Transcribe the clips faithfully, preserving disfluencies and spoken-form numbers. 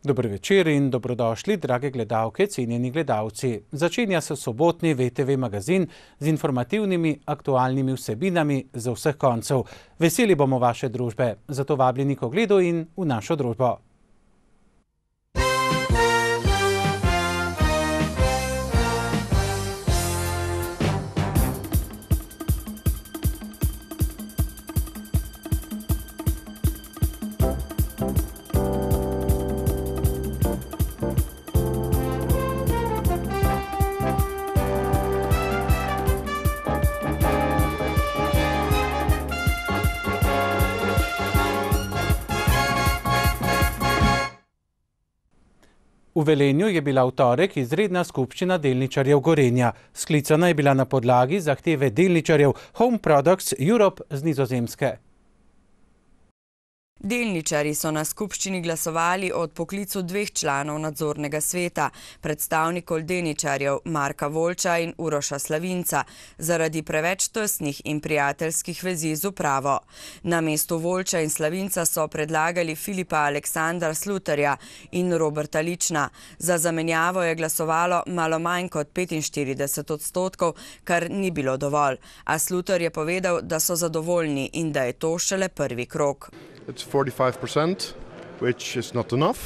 Dober večer in dobrodošli, drage gledalke, cenjeni gledalci. Začenja se sobotni V T V magazin z informativnimi, aktualnimi vsebinami z vseh koncev. Veseli bomo vaše družbe, zato vabljeni k ogledu in v našo družbo. V Velenju je bila v torek izredna skupščina delničarjev Gorenja. Sklicana je bila na podlagi zahteve delničarjev Home Products Europe z Nizozemske. Delničarji so na skupščini glasovali o odpoklicu dveh članov nadzornega sveta, predstavnikov delničarjev Marka Voljča in Uroša Slavinca, zaradi preveč tesnih in prijateljskih vezi z upravo. Na mestu Voljča in Slavinca so predlagali Filipa Aleksandra Slutarja in Roberta Lična. Za zamenjavo je glasovalo malo manj kot petinštirideset odstotkov, kar ni bilo dovolj. A Slutar je povedal, da so zadovoljni in da je to šele prvi krog. It's forty-five percent, which is not enough,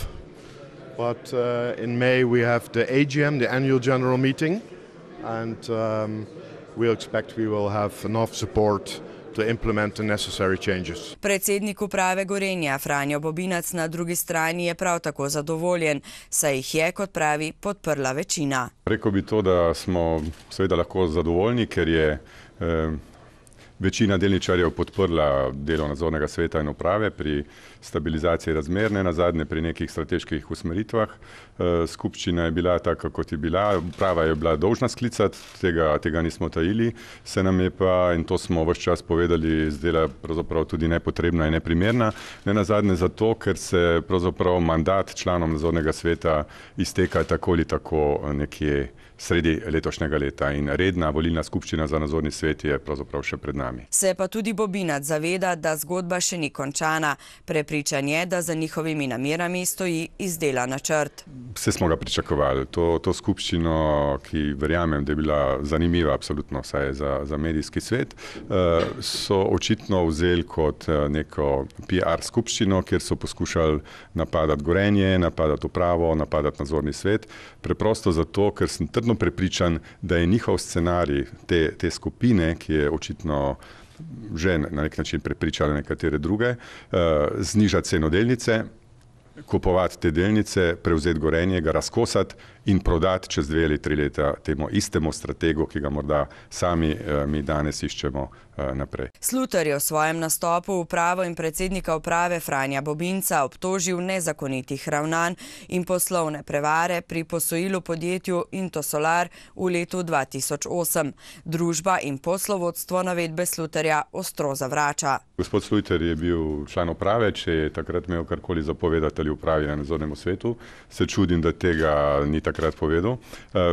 but uh, in May we have the A G M, the annual general meeting, and um, we'll expect we will have enough support to implement the necessary changes. Predsednik uprave Gorenja Franjo Bobinac na drugi strani je prav tako zadovoljen, saj jih je, kot pravi, podprla večina. Rekel bi to, da smo seveda lahko zadovoljni, ker je eh, večina delničarjev podprla delo nadzornega sveta in uprave pri stabilizaciji razmer, ne nazadnje pri nekih strateških usmeritvah. Skupščina je bila taka, kot je bila, uprava je bila dolžna sklicati, tega, tega nismo tajili, se nam je pa, in to smo ves čas povedali, zdela pravzaprav tudi nepotrebna in neprimerna, ne nazadnje zato, ker se pravzaprav mandat članom nadzornega sveta izteka tako ali tako nekje sredi letošnjega leta in redna volilna skupščina za nadzorni svet je pravzaprav še pred nami. Se pa tudi Bobinac zaveda, da zgodba še ni končana. Prepričan je, da za njihovimi namerami stoji izdelan načrt. Vse smo ga pričakovali. To, to skupščino, ki verjamem, da je bila zanimiva absolutno vsaj za, za medijski svet, so očitno vzeli kot neko P R skupščino, kjer so poskušali napadati Gorenje, napadati upravo, napadati nadzorni svet. Preprosto zato, ker sem trdno prepričan, da je njihov scenarij te, te skupine, ki je očitno že na nek način prepričala nekatere druge, znižati ceno delnice, kupovati te delnice, prevzeti Gorenje, ga razkosati in prodati čez dve ali tri leta temu istemu strategu, ki ga morda sami mi danes iščemo naprej. Slutar je v svojem nastopu upravo in predsednika uprave Franja Bobinca obtožil nezakonitih ravnanj in poslovne prevare pri posojilu podjetju Intosolar v letu dva tisoč osem. Družba in poslovodstvo navedbe Slutarja ostro zavrača. Gospod Slutar je bil član uprave, če je takrat imel karkoli zapovedati ali upravi na nadzornemu svetu. Se čudim, da tega ni takrat povedal.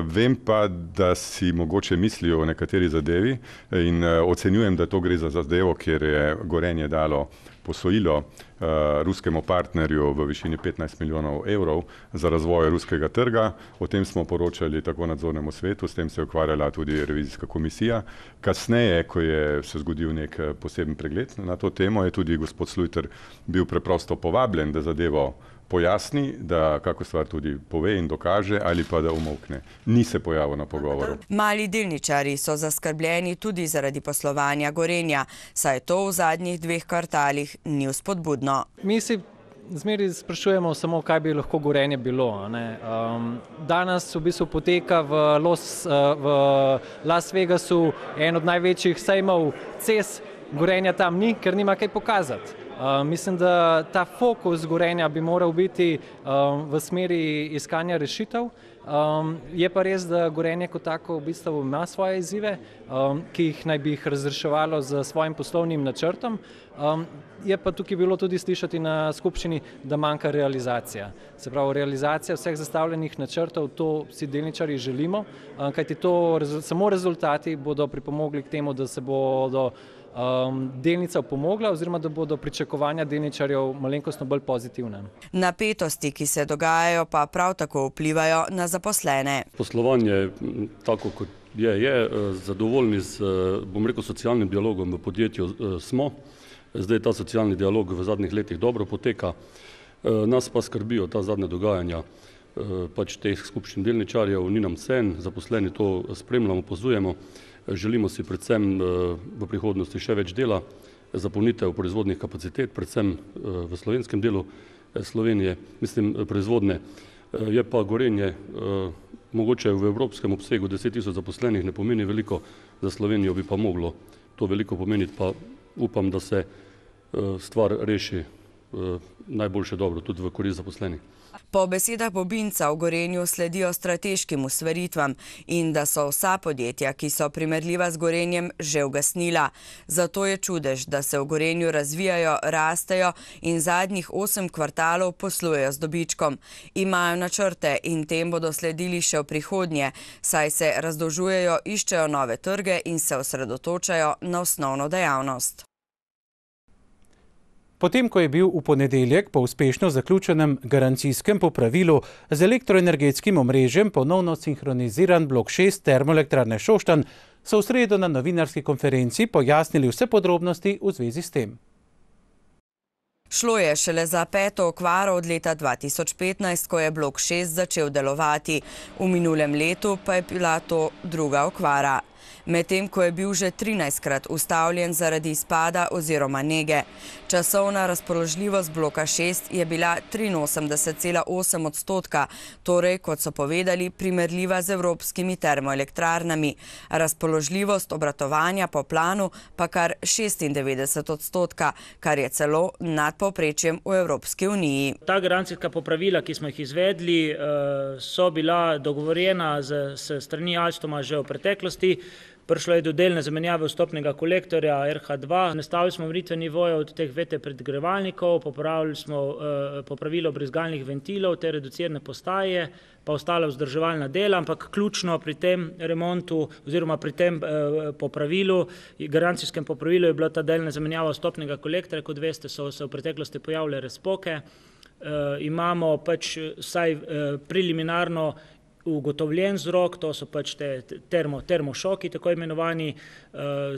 Vem pa, da si mogoče mislijo o nekateri zadevi in ocenjujem, da to gre za zadevo, kjer je Gorenje dalo posojilo uh, ruskemu partnerju v višini petnajst milijonov evrov za razvoj ruskega trga. O tem smo poročali tako nadzornemu svetu, s tem se je ukvarjala tudi revizijska komisija. Kasneje, ko je se zgodil nek poseben pregled na to temo, je tudi gospod Slutar bil preprosto povabljen, da zadevo pojasni, da kako stvar tudi pove in dokaže ali pa da umolkne. Ni se pojavil na pogovoru. Mali delničarji so zaskrbljeni tudi zaradi poslovanja Gorenja, saj to v zadnjih dveh kvartalih ni vzpodbudno. Mi si zmeri sprašujemo samo, kaj bi lahko Gorenje bilo. Ne? Um, danes v bistvu poteka v, Los, v Las Vegasu en od največjih sejmov C E S. Gorenja tam ni, ker nima kaj pokazati. Uh, mislim, da ta fokus Gorenja bi moral biti um, v smeri iskanja rešitev. Um, je pa res, da Gorenje kot tako v bistvu ima svoje izzive, um, ki jih naj bi jih razreševalo z svojim poslovnim načrtom. Um, je pa tukaj bilo tudi slišati na skupščini, da manjka realizacija. Se pravi, realizacija vseh zastavljenih načrtov, to si delničarji želimo, um, kajti to, samo rezultati bodo pripomogli k temu, da se bodo delnica opomogla oziroma da bodo pričakovanja delničarjev malenkostno bolj pozitivne. Napetosti, ki se dogajajo, pa prav tako vplivajo na zaposlene. Poslovanje, tako kot je, je zadovoljni z, bom rekel, socialnim dialogom v podjetju smo. Zdaj ta socialni dialog v zadnjih letih dobro poteka. Nas pa skrbijo ta zadnja dogajanja pač teh skupščin delničarjev, ni nam cen, zaposleni to spremljamo, opazujemo. Želimo si predvsem v prihodnosti še več dela, zapolnitev proizvodnih kapacitet, predvsem v slovenskem delu Slovenije, mislim proizvodne. Je pa Gorenje mogoče v evropskem obsegu deset tisoč zaposlenih ne pomeni veliko, za Slovenijo bi pa moglo to veliko pomeniti, pa upam, da se stvar reši najboljše dobro, tudi v korist zaposlenih. Po besedah Bobinca v Gorenju sledijo strateškim usmeritvam in da so vsa podjetja, ki so primerljiva z Gorenjem, že ugasnila. Zato je čudež, da se v Gorenju razvijajo, rastejo in zadnjih osem kvartalov poslujejo z dobičkom. Imajo načrte in tem bodo sledili še v prihodnje, saj se razdolžujejo, iščejo nove trge in se osredotočajo na osnovno dejavnost. Potem, ko je bil v ponedeljek po uspešno zaključenem garancijskem popravilu z elektroenergetskim omrežjem ponovno sinhroniziran blok šest termoelektrarne Šoštanj, so v sredo na novinarski konferenci pojasnili vse podrobnosti v zvezi s tem. Šlo je šele za peto okvaro od leta dva tisoč petnajst, ko je blok šest začel delovati. V minulem letu pa je bila to druga okvara. Medtem ko je bil že trinajstkrat ustavljen zaradi izpada oziroma nege. Časovna razpoložljivost bloka šest je bila triinosemdeset cela osem odstotka, torej, kot so povedali, primerljiva z evropskimi termoelektrarnami. Razpoložljivost obratovanja po planu pa kar šestindevetdeset odstotka, kar je celo nad povprečjem v Evropski uniji. Ta garancijska popravila, ki smo jih izvedli, so bila dogovorjena s strani Alstoma že v preteklosti. Prišlo je do delne zamenjave vstopnega kolektorja R H dva, nastavili smo meritve nivoja od teh V T predgrevalnikov, popravili smo popravilo brizgalnih ventilov, te reducirane postaje, pa ostala vzdrževalna dela, ampak ključno pri tem remontu oziroma pri tem popravilu, garancijskem popravilu je bila ta delna zamenjava vstopnega kolektorja, kot veste, so se v preteklosti pojavile razpoke. Imamo pač vsaj preliminarno ugotovljen vzrok, to so pač te termo, termošoki, tako imenovani.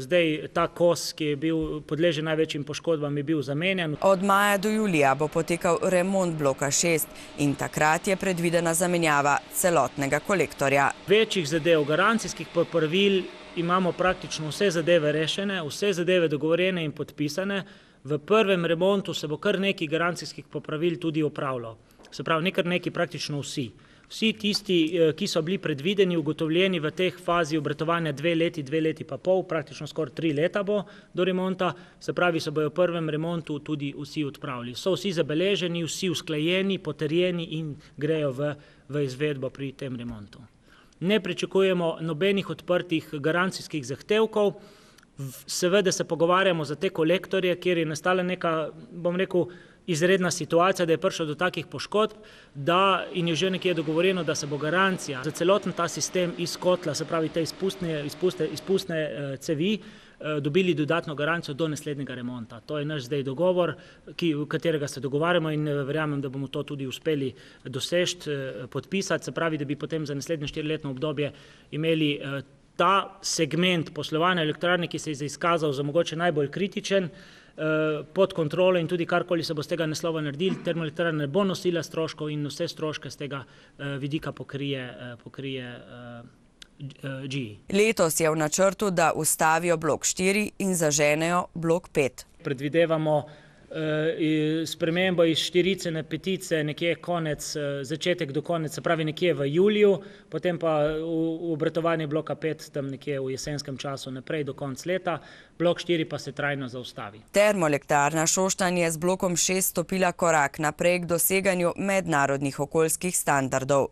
Zdaj ta kos, ki je bil podležen največjim poškodbam, je bil zamenjan. Od maja do julija bo potekal remont bloka šest in takrat je predvidena zamenjava celotnega kolektorja. Večjih zadev, garancijskih popravil imamo praktično vse zadeve rešene, vse zadeve dogovorjene in podpisane. V prvem remontu se bo kar nekaj garancijskih popravil tudi opravilo. Se pravi, nekaj neki praktično vsi. Vsi tisti, ki so bili predvideni, ugotovljeni v teh fazi obratovanja dve leti, dve leti pa pol, praktično skoraj tri leta bo do remonta, se pravi, se bojo v prvem remontu tudi vsi odpravili. So vsi zabeleženi, vsi usklajeni, potrjeni in grejo v, v izvedbo pri tem remontu. Ne pričakujemo nobenih odprtih garancijskih zahtevkov, seveda se pogovarjamo za te kolektorje, kjer je nastala neka, bom rekel, izredna situacija, da je prišlo do takih poškodb, da in je že nekje dogovorjeno, da se bo garancija za celoten ta sistem iz kotla, se pravi te izpustne, izpustne, izpustne cevi, dobili dodatno garancijo do naslednjega remonta. To je naš zdaj dogovor, ki, v katerega se dogovarjamo in verjamem, da bomo to tudi uspeli doseči, podpisati, se pravi, da bi potem za naslednje štiriletno obdobje imeli ta segment poslovanja elektrarne, ki se je izkazal za mogoče najbolj kritičen, pod kontrolo in tudi karkoli se bo z tega naslova naredili, termoelektrarna ne bo nosila stroškov in vse stroške z tega vidika pokrije, pokrije G E. Letos je v načrtu, da ustavijo blok štiri in zaženejo blok pet. Predvidevamo spremembo iz štirice na petice nekje konec, začetek do konec, se pravi nekje v juliju, potem pa v obratovanje bloka pet tam nekje v jesenskem času naprej do konc leta, blok štiri pa se trajno zaustavi. Termoelektrarna Šoštanj je z blokom šest stopila korak naprej k doseganju mednarodnih okoljskih standardov.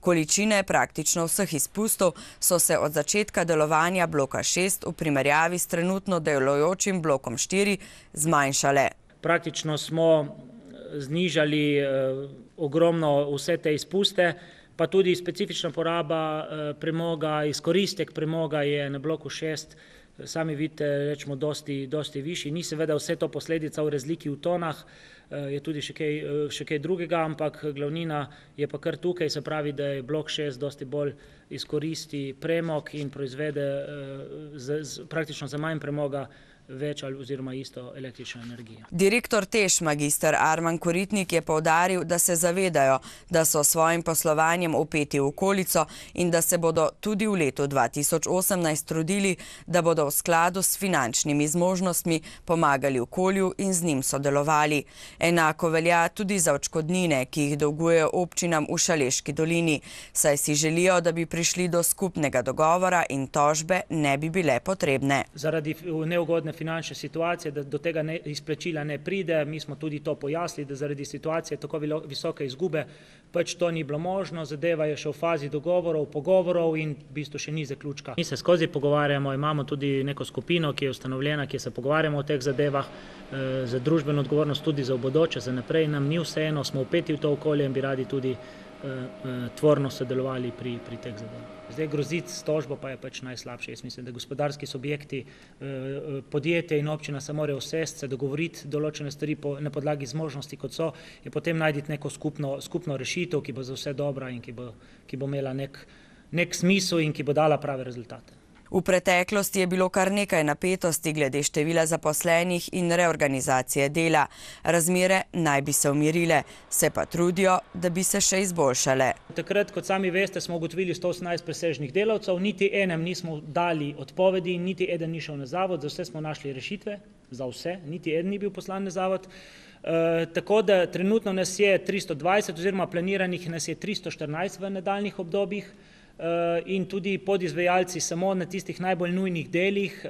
Količine praktično vseh izpustov so se od začetka delovanja bloka šest v primerjavi s trenutno delujočim blokom štiri zmanjšale. Praktično smo znižali ogromno vse te izpuste, pa tudi specifična poraba premoga, izkoristek premoga je na bloku šest sami vidite, rečemo, dosti, dosti višji. Ni seveda vse to posledica v razliki v tonah, je tudi še kaj, še kaj drugega, ampak glavnina je pa kar tukaj, se pravi, da je blok šest dosti bolj izkoristi premog in proizvede z, z, praktično za manj premoga več ali oziroma isto električno energijo. Direktor TEŠ magister Arman Koritnik je poudaril, da se zavedajo, da so s svojim poslovanjem vpeti v okolico in da se bodo tudi v letu dva tisoč osemnajst trudili, da bodo v skladu s finančnimi zmožnostmi pomagali okolju in z njim sodelovali. Enako velja tudi za odškodnine, ki jih dolgujejo občinam v Šaleški dolini, saj si želijo, da bi prišli do skupnega dogovora in tožbe ne bi bile potrebne. Zaradi neugodne finančne situacije, da do tega ne, izplačila ne pride. Mi smo tudi to pojasnili, da zaradi situacije tako visoke izgube pač to ni bilo možno. Zadeva je še v fazi dogovorov, pogovorov in v bistvu še ni zaključka. Mi se skozi pogovarjamo, imamo tudi neko skupino, ki je ustanovljena, ki se pogovarjamo o teh zadevah, e, za družbeno odgovornost tudi za v bodoče, za naprej. Nam ni vseeno, smo vpeti v to okolje in bi radi tudi tvorno sodelovali pri, pri teh zadevah. Zdaj groziti s tožbo pa je pač najslabše. Jaz mislim, da gospodarski subjekti, podjetje in občina se morajo usesti, se dogovoriti določene stvari po, na podlagi zmožnosti, kot so, je potem najti neko skupno, skupno rešitev, ki bo za vse dobra in ki bo, ki bo imela nek, nek smisel in ki bo dala prave rezultate. V preteklosti je bilo kar nekaj napetosti glede števila zaposlenih in reorganizacije dela. Razmere naj bi se umirile, se pa trudijo, da bi se še izboljšale. Takrat, kot sami veste, smo ugotovili sto osemnajst presežnih delavcev, niti enem nismo dali odpovedi, niti eden ni šel na zavod, za vse smo našli rešitve, za vse, niti eden ni bil poslan na zavod. E, tako da trenutno nas je tristo dvajset oziroma planiranih nas je tristo štirinajst v nadaljnjih obdobjih. In tudi podizvajalci samo na tistih najbolj nujnih delih,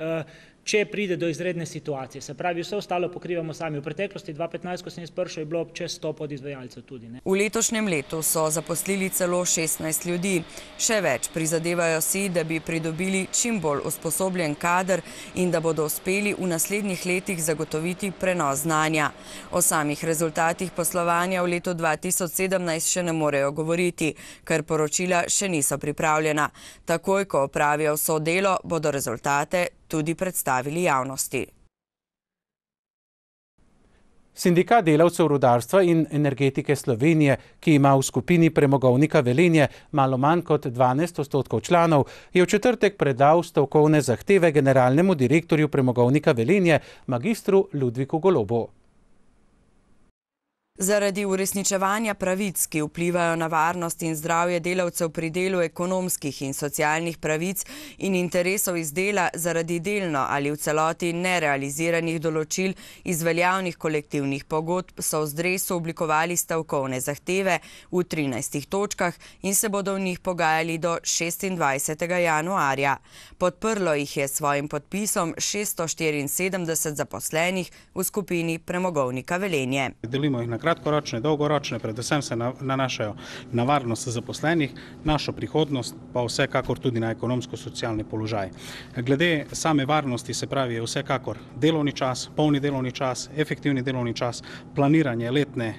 če pride do izredne situacije. Se pravi, vse ostalo pokrivamo sami. V preteklosti dva petnajst, ko sem jaz prišel, je bilo čez sto podizvajalcev tudi. Ne? V letošnjem letu so zaposlili celo šestnajst ljudi. Še več, prizadevajo si, da bi pridobili čim bolj usposobljen kader in da bodo uspeli v naslednjih letih zagotoviti prenos znanja. O samih rezultatih poslovanja v letu dva tisoč sedemnajst še ne morejo govoriti, ker poročila še niso pripravljena. Takoj, ko opravijo vso delo, bodo rezultate tudi predstavili javnosti. Sindikat delavcev rudarstva in energetike Slovenije, ki ima v skupini Premogovnika Velenje malo manj kot dvanajst odstotkov članov, je v četrtek predal stavkovne zahteve generalnemu direktorju Premogovnika Velenje, magistru Ludviku Golobu. Zaradi uresničevanja pravic, ki vplivajo na varnost in zdravje delavcev pri delu, ekonomskih in socialnih pravic in interesov iz dela zaradi delno ali v celoti nerealiziranih določil iz veljavnih kolektivnih pogodb, so v Zdresu oblikovali stavkovne zahteve v trinajstih točkah in se bodo v njih pogajali do šestindvajsetega januarja. Podprlo jih je s svojim podpisom šeststo štiriinsedemdeset zaposlenih v skupini Premogovnika Velenje. Delimo jih na kratkoročne, dolgoročne, predvsem se nanašajo na varnost zaposlenih, našo prihodnost, pa vsekakor tudi na ekonomsko-socialni položaj. Glede same varnosti, se pravi, je vsekakor delovni čas, polni delovni čas, efektivni delovni čas, planiranje letne,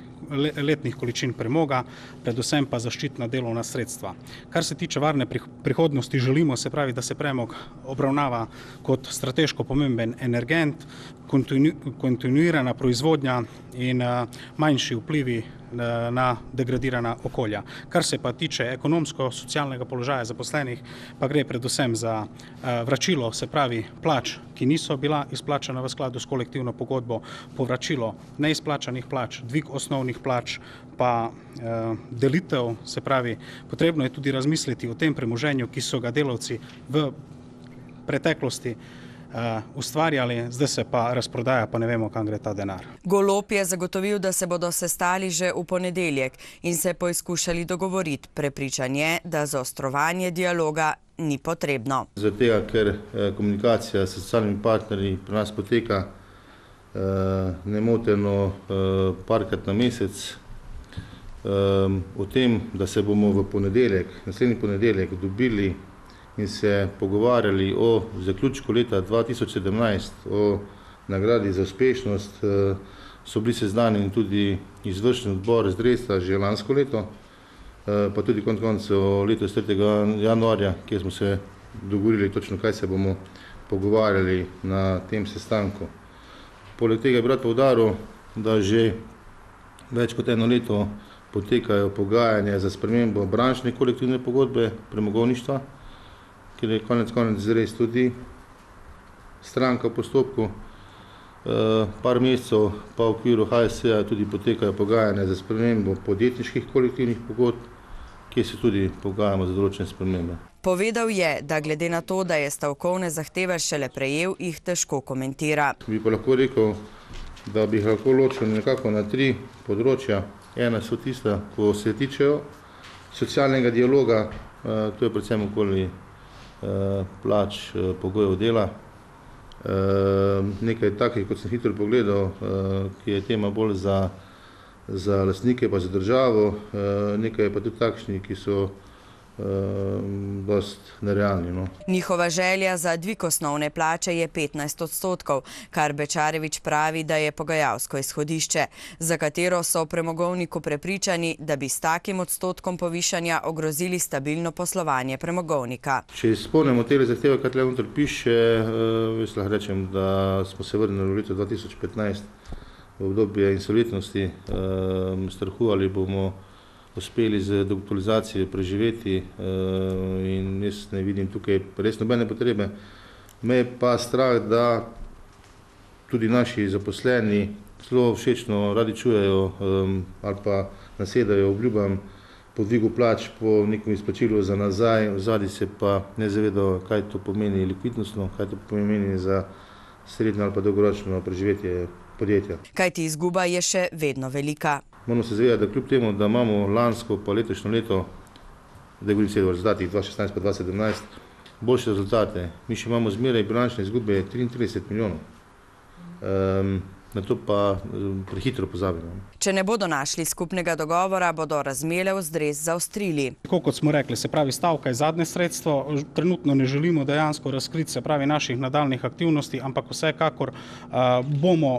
letnih količin premoga, predvsem pa zaščitna delovna sredstva. Kar se tiče varne prihodnosti, želimo, se pravi, da se premog obravnava kot strateško pomemben energent, kontinu, kontinuirana proizvodnja in uh, manjši vplivi uh, na degradirana okolja. Kar se pa tiče ekonomsko-socialnega položaja zaposlenih, pa gre predvsem za uh, vračilo, se pravi, plač, ki niso bila izplačana v skladu s kolektivno pogodbo, povračilo neizplačanih plač, dvig osnovnih plač, pa uh, delitev, se pravi, potrebno je tudi razmisliti o tem premoženju, ki so ga delavci v preteklosti Uh, ustvarjali, zdaj se pa razprodaja, pa ne vemo, kam gre ta denar. Golob je zagotovil, da se bodo sestali že v ponedeljek in se poizkušali dogovoriti. Prepričan je, da zaostrovanje dialoga ni potrebno. Zaradi tega, ker eh, komunikacija s socialnimi partnerji pri nas poteka eh, nemoteno eh, parkrat na mesec, eh, o tem, da se bomo v ponedeljek, naslednji ponedeljek dobili in se pogovarjali o zaključku leta dva tisoč sedemnajst, o nagradi za uspešnost, so bili seznanjeni tudi izvršni odbor Zdresa že lansko leto, pa tudi konec koncev letos tretjega januarja, kjer smo se dogovorili točno, kaj se bomo pogovarjali na tem sestanku. Poleg tega bi rad poudaril, da že več kot eno leto potekajo pogajanja za spremembo brančne kolektivne pogodbe premogovništva, kjer je konec konec res tudi stranka v postopku. Par mesecev pa v okviru H S E-ja tudi potekajo pogajanja za spremembo podjetniških kolektivnih pogodb, kjer se tudi pogajamo za določene spremembe. Povedal je, da glede na to, da je stavkovne zahteve šele prejel, jih težko komentira. Bi pa lahko rekel, da bi jih lahko ločil nekako na tri področja. Ena so tista, ko se tičejo socialnega dialoga, to je predvsem okoli plač, pogojev dela. Nekaj takih, kot sem hitro pogledal, ki je tema bolj za, za lastnike pa za državo, nekaj je pa tudi takšni, ki so dost nerealni. No. Njihova želja za dvig osnovne plače je petnajst odstotkov, kar Bečarevič pravi, da je pogajalsko izhodišče, za katero so v premogovniku prepričani, da bi s takim odstotkom povišanja ogrozili stabilno poslovanje premogovnika. Če izpolnimo te zahteve, kar tukaj noter piše, jaz lahko rečem, da smo se vrnili v leto dva tisoč petnajst v obdobje insolventnosti, strahu ali bomo uspeli z dokapitalizacijo preživeti in jaz ne vidim tukaj res nobene potrebe. Me je pa strah, da tudi naši zaposleni zelo všečno radi čujejo ali pa nasedajo obljubam po dvigu plač, po nekem izplačilu za nazaj, vzadi se pa ne zavedajo, kaj to pomeni likvidnostno, kaj to pomeni za srednjo ali pa dolgoročno preživetje podjetja. Kajti izguba je še vedno velika. Moramo se zavedati, da kljub temu, da imamo lansko pa letošnjo leto, da govorim se o rezultatih dva tisoč šestnajst pa dva tisoč sedemnajst, boljše rezultate. Mi še imamo zmeraj bilančne izgube triintrideset milijonov. Na to pa prehitro pozabimo. Če ne bodo našli skupnega dogovora, bodo razmele v zdres zaostrili. Tako kot smo rekli, se pravi stavka je zadnje sredstvo, trenutno ne želimo dejansko razkriti se pravi naših nadaljnih aktivnosti, ampak vsekakor bomo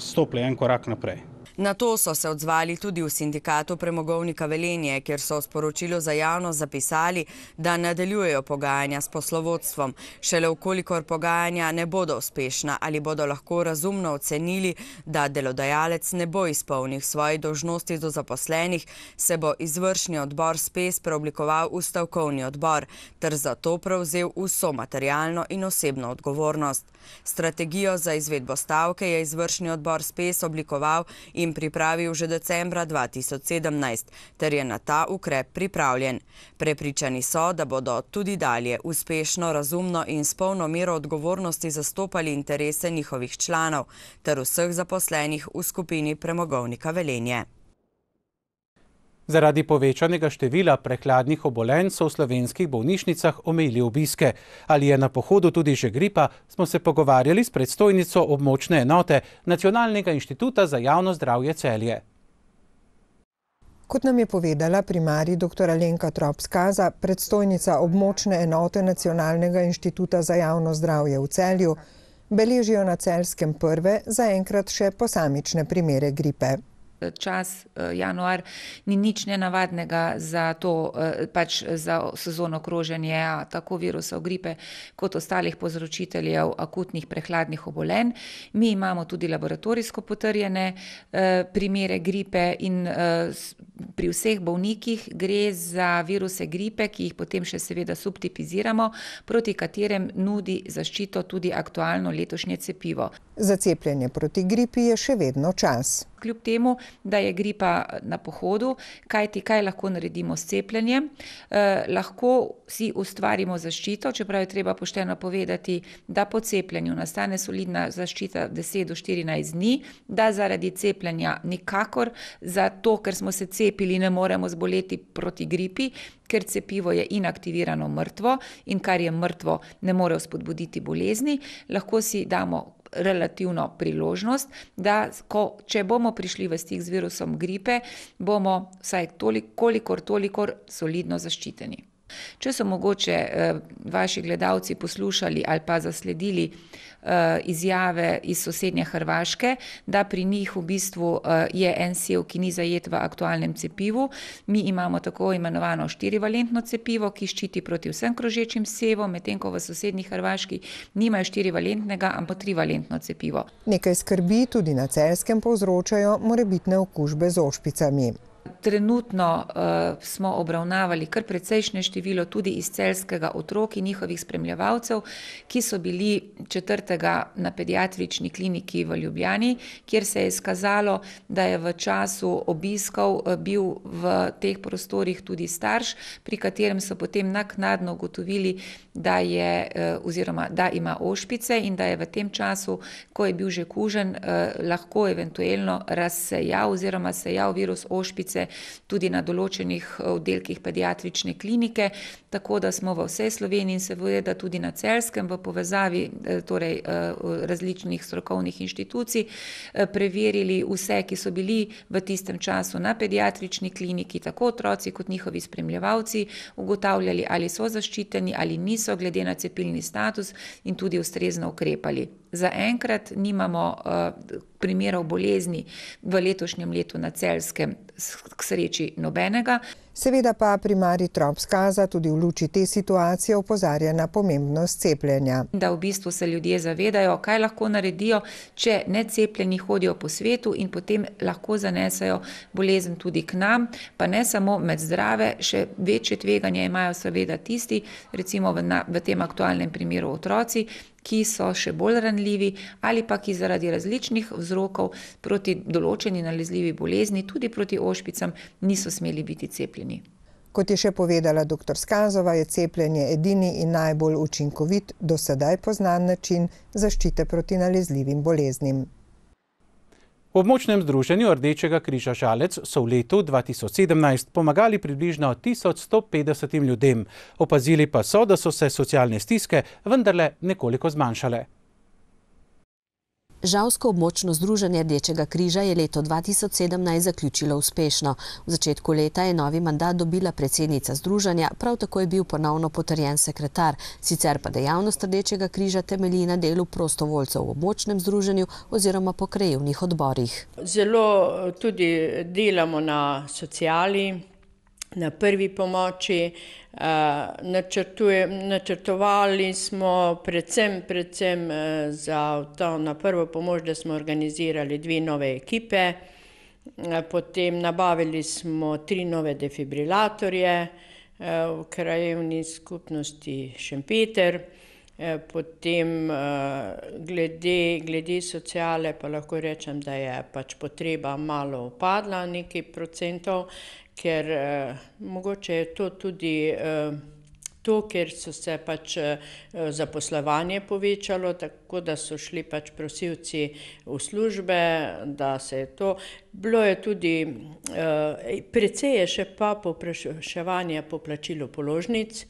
stopili en korak naprej. Na to so se odzvali tudi v sindikatu Premogovnika Velenje, kjer so v sporočilu za javnost zapisali, da nadaljujejo pogajanja s poslovodstvom. Šele vkolikor pogajanja ne bodo uspešna ali bodo lahko razumno ocenili, da delodajalec ne bo izpolnil svojih dolžnosti do zaposlenih, se bo izvršni odbor SPES preoblikoval v stavkovni odbor ter zato prevzel vso materialno in osebno odgovornost. Strategijo za izvedbo stavke je izvršni odbor SPES oblikoval in pripravil že decembra dva tisoč sedemnajst, ter je na ta ukrep pripravljen. Prepričani so, da bodo tudi dalje uspešno, razumno in s polno mero odgovornosti zastopali interese njihovih članov ter vseh zaposlenih v skupini Premogovnika Velenje. Zaradi povečanega števila prehladnih obolenj so v slovenskih bolnišnicah omejili obiske. Ali je na pohodu tudi že gripa, smo se pogovarjali s predstojnico območne enote Nacionalnega inštituta za javno zdravje Celje. Kot nam je povedala primarij doktor Alenka Trop-Skaza, predstojnica območne enote Nacionalnega inštituta za javno zdravje v Celju, beležijo na Celjskem prve zaenkrat še posamične primere gripe. Čas januar ni nič nenavadnega za to, pač za sezono kroženja tako virusov gripe kot ostalih povzročiteljev akutnih prehladnih obolenj. Mi imamo tudi laboratorijsko potrjene primere gripe in pri vseh bolnikih gre za viruse gripe, ki jih potem še seveda subtipiziramo, proti katerem nudi zaščito tudi aktualno letošnje cepivo. Za cepljenje proti gripi je še vedno čas. Kljub temu, da je gripa na pohodu, kajti kaj lahko naredimo s cepljenjem, eh, lahko si ustvarimo zaščito, čeprav je treba pošteno povedati, da po cepljenju nastane solidna zaščita deset do štirinajst dni, da zaradi cepljenja nikakor, zato ker smo se cepili, ne moremo zboleti proti gripi, ker cepivo je inaktivirano mrtvo in kar je mrtvo ne more spodbuditi bolezni, lahko si damo relativno priložnost, da ko, če bomo prišli v stik z virusom gripe, bomo vsaj toliko, kolikor tolikor solidno zaščiteni. Če so mogoče eh, vaši gledalci poslušali ali pa zasledili izjave iz sosednje Hrvaške, da pri njih v bistvu je en sev, ki ni zajet v aktualnem cepivu. Mi imamo tako imenovano štirivalentno cepivo, ki ščiti proti vsem krožečim sevom, medtem ko v sosednji Hrvaški nimajo štirivalentnega, ampak trivalentno cepivo. Nekaj skrbi tudi na Celjskem povzročajo morebitne okužbe z ošpicami. Trenutno uh, smo obravnavali kar precejšnje število tudi iz celjskega otrok in njihovih spremljevalcev, ki so bili četrtega na pediatrični kliniki v Ljubljani, kjer se je izkazalo, da je v času obiskov bil v teh prostorih tudi starš, pri katerem so potem naknadno ugotovili, da je oziroma da ima ošpice in da je v tem času, ko je bil že kužen, eh, lahko eventuelno razsejal oziroma sejal virus ošpice tudi na določenih oddelkih pediatrične klinike, tako da smo v vsej Sloveniji in seveda tudi na Celjskem v povezavi torej, različnih strokovnih inštitucij preverili vse, ki so bili v tistem času na pediatrični kliniki, tako otroci kot njihovi spremljevalci, ugotavljali, ali so zaščiteni ali niso glede na cepilni status in tudi ustrezno ukrepali. Zaenkrat nimamo uh, primerov bolezni v letošnjem letu na Celjskem, k sreči nobenega. Seveda pa primarij Trop-Skaza tudi v luči te situacije opozarja na pomembnost cepljenja. Da v bistvu se ljudje zavedajo, kaj lahko naredijo, če necepljeni hodijo po svetu in potem lahko zanesajo bolezen tudi k nam, pa ne samo med zdrave, še večje tveganje imajo seveda tisti, recimo v, na, v tem aktualnem primeru otroci, ki so še bolj ranljivi ali pa ki zaradi različnih vzrokov proti določeni nalezljivi bolezni, tudi proti ošpicam, niso smeli biti cepljeni. Kot je še povedala doktor Skazova, je cepljenje edini in najbolj učinkovit do sedaj poznan način zaščite proti nalezljivim boleznim. V območnem združenju Rdečega križa Žalec so v letu dva tisoč sedemnajst pomagali približno tisoč sto petdesetim ljudem. Opazili pa so, da so se socialne stiske vendarle nekoliko zmanjšale. Žalsko območno združenje Rdečega križa je leto dva tisoč sedemnajst zaključilo uspešno. V začetku leta je novi mandat dobila predsednica združenja, prav tako je bil ponovno potrjen sekretar. Sicer pa dejavnost Rdečega križa temelji na delu prostovoljcev v območnem združenju oziroma po krajevnih odborih. Zelo tudi delamo na sociali, na prvi pomoči. Načrtovali smo predvsem, predvsem za to na prvo pomoč, da smo organizirali dve nove ekipe, potem nabavili smo tri nove defibrilatorje v krajevni skupnosti Šempeter, potem glede, glede sociale pa lahko rečem, da je pač potreba malo upadla, nekaj procentov, ker eh, mogoče je to tudi eh, to, ker so se pač eh, zaposlovanje povečalo, tako da so šli pač prosilci v službe, da se je to. Bilo je tudi, eh, precej je še pa povpraševanje po plačilu položnic,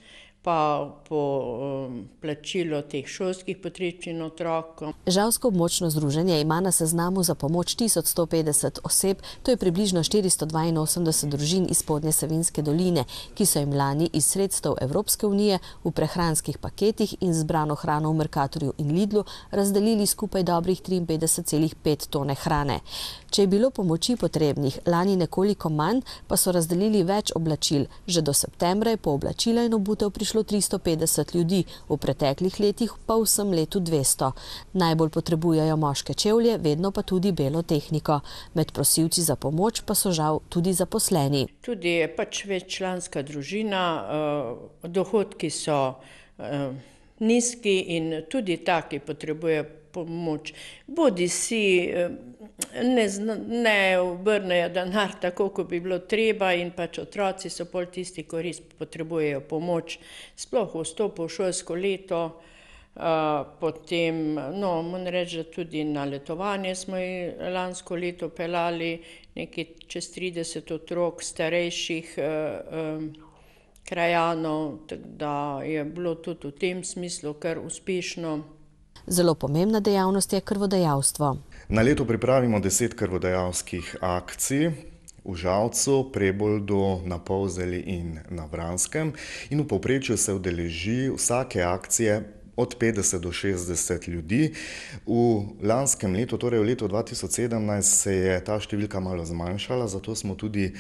pa po um, plačilo teh šolskih potrebščin otrokom. Žalsko območno združenje ima na seznamu za pomoč tisoč sto petdeset oseb, to je približno štiristo dvainosemdeset družin iz Spodnje Savinjske doline, ki so jim lani iz sredstev Evropske unije v prehranskih paketih in zbrano hrano v Mercatorju in Lidlu razdelili skupaj dobrih triinpetdeset celih pet tone hrane. Če je bilo pomoči potrebnih lani nekoliko manj, pa so razdelili več oblačil. Že do septembra je po oblačila in obutev prišlo tristo petdeset ljudi, v preteklih letih pa v vsem letu dvesto. Najbolj potrebujejo moške čevlje, vedno pa tudi belo tehniko. Med prosilci za pomoč pa so žal tudi zaposleni. Tudi je pač veččlanska družina, dohodki so nizki in tudi taki potrebujejo pomoč. Bodi si ne, ne obrnejo denar tako, kot bi bilo treba in pač otroci so pol tisti, ko res potrebujejo pomoč, sploh v vstopu v šolsko leto. Uh, potem, no, moram reči, da tudi na letovanje smo lansko leto pelali nekaj čez trideset otrok starejših uh, um, krajanov, da je bilo tudi v tem smislu kar uspešno. Zelo pomembna dejavnost je krvodajalstvo. Na leto pripravimo deset krvodajalskih akcij v Žalcu, Preboldu, na Polzeli in na Vranskem in v povprečju se udeleži vsake akcije od petdeset do šestdeset ljudi. V lanskem letu, torej v letu dva tisoč sedemnajst, se je ta številka malo zmanjšala, zato smo tudi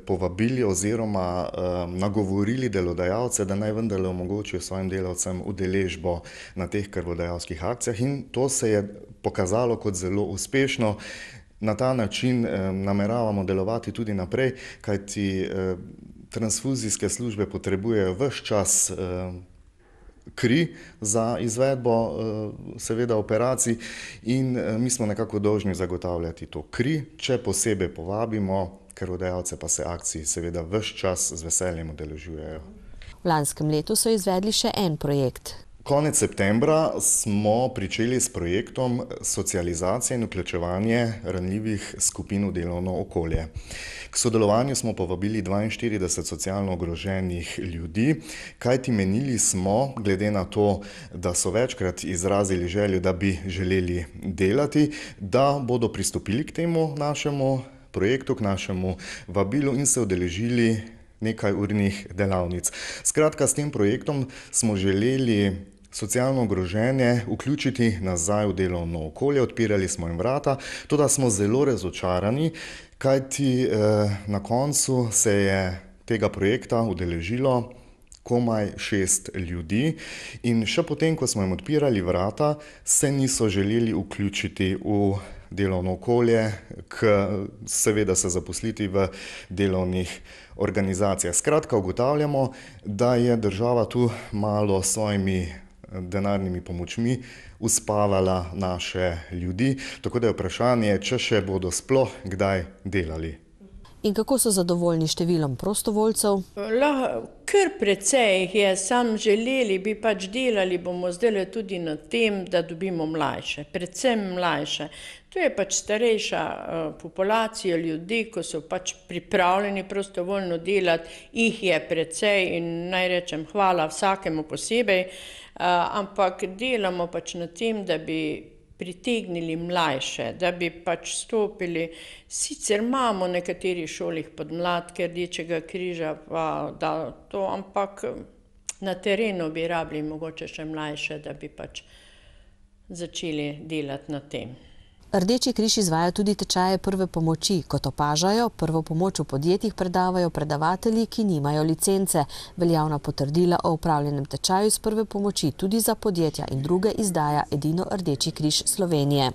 povabili oziroma nagovorili delodajalce, da naj vendarle omogočijo svojim delavcem udeležbo na teh krvodajalskih akcijah, in to se je pokazalo kot zelo uspešno. Na ta način nameravamo delovati tudi naprej, kajti transfuzijske službe potrebujejo ves čas kri za izvedbo seveda operacij in mi smo nekako dolžni zagotavljati to kri, če posebej povabimo, krvodajalce pa se akcij seveda ves čas z veseljem udeležujejo. V lanskem letu so izvedli še en projekt. Konec septembra smo pričeli s projektom socializacije in vključevanje ranljivih skupin v delovno okolje. K sodelovanju smo povabili dvainštirideset socialno ogroženih ljudi, kajti menili smo, glede na to, da so večkrat izrazili željo, da bi želeli delati, da bodo pristopili k temu našemu projektu, k našemu vabilu in se udeležili nekaj urnih delavnic. Skratka, s tem projektom smo želeli socialno ogrožene vključiti nazaj v delovno okolje, odpirali smo jim vrata, toda smo zelo razočarani, kajti eh, na koncu se je tega projekta udeležilo komaj šest ljudi in še potem, ko smo jim odpirali vrata, se niso želeli vključiti v delovno okolje, k seveda se zaposliti v delovnih organizacijah. Skratka, ugotavljamo, da je država tu malo s svojimi denarnimi pomočmi uspavala naše ljudi, tako da je vprašanje, če še bodo sploh kdaj delali. In kako so zadovoljni številom prostovoljcev? Kar precej jih je, sam želeli bi pač delali, bomo zdaj tudi na tem, da dobimo mlajše, predvsem mlajše. To je pač starejša populacija ljudi, ko so pač pripravljeni prostovoljno delati, jih je precej in naj rečem hvala vsakemu posebej, ampak delamo pač na tem, da bi pritegnili mlajše, da bi pač stopili. Sicer imamo v nekaterih šolih podmladke Rdečega križa, pa da to, ampak na terenu bi rabili mogoče še mlajše, da bi pač začeli delati na tem. Rdeči križ izvaja tudi tečaje prve pomoči. Kot opažajo, prvo pomoč v podjetjih predavajo predavatelji, ki nimajo licence. Veljavna potrdila o upravljenem tečaju z prve pomoči tudi za podjetja in druge izdaja edino Rdeči križ Slovenije.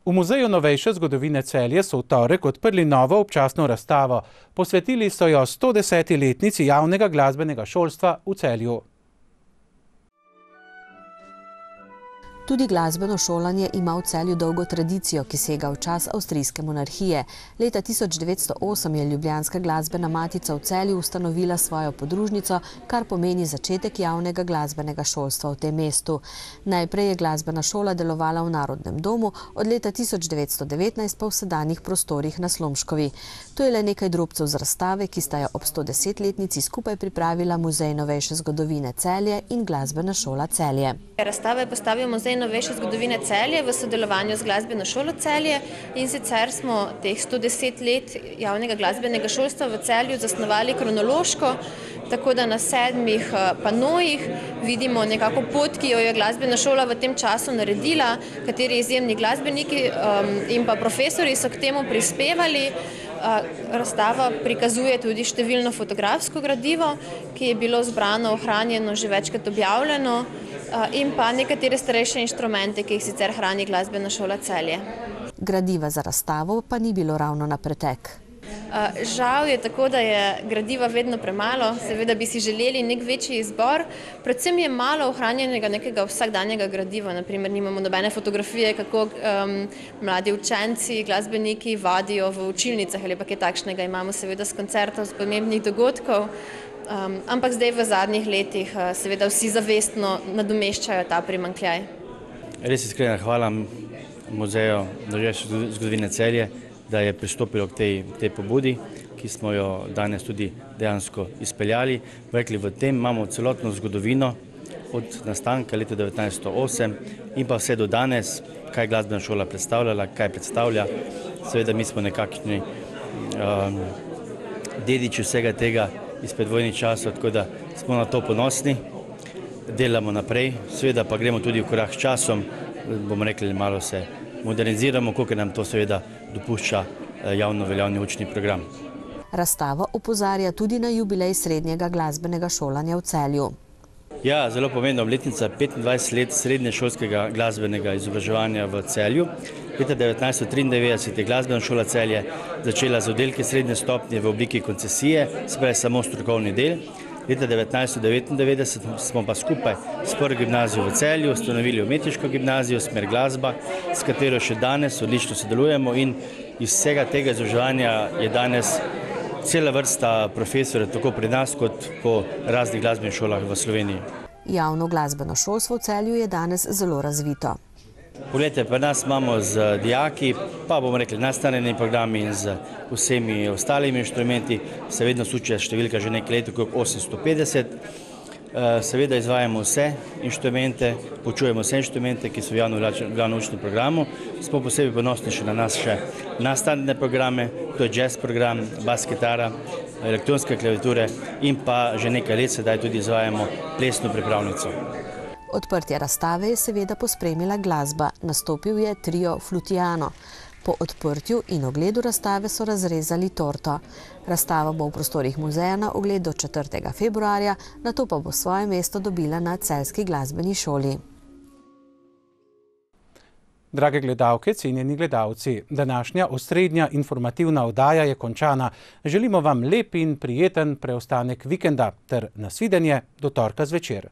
V Muzeju novejše zgodovine Celje so v torek odprli novo občasno razstavo. Posvetili so jo sto deseti letnici javnega glasbenega šolstva v Celju. Tudi glasbeno šolanje ima v Celju dolgo tradicijo, ki sega v čas avstrijske monarhije. Leta tisoč devetsto osem je Ljubljanska glasbena matica v Celju ustanovila svojo podružnico, kar pomeni začetek javnega glasbenega šolstva v tem mestu. Najprej je glasbena šola delovala v Narodnem domu, od leta tisoč devetsto devetnajst pa v sedanjih prostorih na Slomškovi. To je le nekaj drobcev z razstave, ki sta jo ob sto desetletnici skupaj pripravila Muzej novejše zgodovine Celje in Glasbena šola Celje. Razstava je postavil Muzej novejše zgodovine Celje v sodelovanju z Glasbeno šolo Celje in sicer smo teh sto deset let javnega glasbenega šolstva v Celju zasnovali kronološko, tako da na sedmih panojih vidimo nekako pot, ki jo je glasbena šola v tem času naredila, kateri izjemni glasbeniki in pa profesori so k temu prispevali. Razstava prikazuje tudi številno fotografsko gradivo, ki je bilo zbrano, ohranjeno, že večkrat objavljeno, in pa nekatere starejše inštrumente, ki jih sicer hrani Glasbena šola Celje. Gradiva za razstavo pa ni bilo ravno na pretek. Žal je tako, da je gradiva vedno premalo, seveda bi si želeli nek večji izbor, predvsem je malo ohranjenega nekega vsakdanjega gradiva, naprimer nimamo nobene fotografije, kako um, mladi učenci, glasbeniki vadijo v učilnicah ali pa kaj takšnega, imamo seveda z koncertov, z pomembnih dogodkov, um, ampak zdaj v zadnjih letih uh, seveda vsi zavestno nadomeščajo ta primanjkljaj. Res iskrena hvala Muzeju novejše zgodovine Celje, da je pristopilo k tej, tej pobudi, ki smo jo danes tudi dejansko izpeljali. Rekli, v tem imamo celotno zgodovino od nastanka leta devetnajststo osem in pa vse do danes, kaj glasbena šola predstavljala, kaj predstavlja. Seveda mi smo nekakšni um, dediči vsega tega iz predvojnih časov, tako da smo na to ponosni. delamo naprej, seveda pa gremo tudi v korak s časom, bomo rekli, malo se moderniziramo, koliko nam to seveda dopušča javno veljavni učni program. Razstava opozarja tudi na jubilej srednjega glasbenega šolanja v Celju. Ja, zelo pomembna obletnica petindvajset let srednješolskega glasbenega izobraževanja v Celju. Leta devetnajststo triindevetdeset je glasbena šola Celje začela z oddelki srednje stopnje v obliki koncesije, se pravi samo strokovni del. Leta devetnajststo devetindevetdeset smo pa skupaj s prvo gimnazijo v Celju ustanovili umetniško gimnazijo Smer glasba, s katero še danes odlično sodelujemo in iz vsega tega izobraževanja je danes cela vrsta profesorjev, tako pri nas kot po raznih glasbenih šolah v Sloveniji. Javno glasbeno šolstvo v Celju je danes zelo razvito. Poglejte, pri nas imamo z dijaki, pa bomo rekli nastanjeni programi in z vsemi ostalimi inštrumenti, se vedno suče številka že nekaj let, okrog osemsto petdeset. Seveda izvajamo vse inštrumente, poučujemo vse inštrumente, ki so v javnem učnem programu. Smo posebej ponosni še na nas še nastanjene programe, to je jazz program, bas kitara, elektronske klaviature in pa že nekaj let sedaj tudi izvajamo plesno pripravnico. Odprtje razstave je seveda pospremila glasba, nastopil je trio Flutiano. Po odprtju in ogledu razstave so razrezali torto. Razstava bo v prostorih muzeja na ogled do četrtega februarja, nato pa bo svoje mesto dobila na Celjski glasbeni šoli. Drage gledalke, cenjeni gledalci, današnja osrednja informativna oddaja je končana. Želimo vam lep in prijeten preostanek vikenda ter nasvidenje do torka zvečer.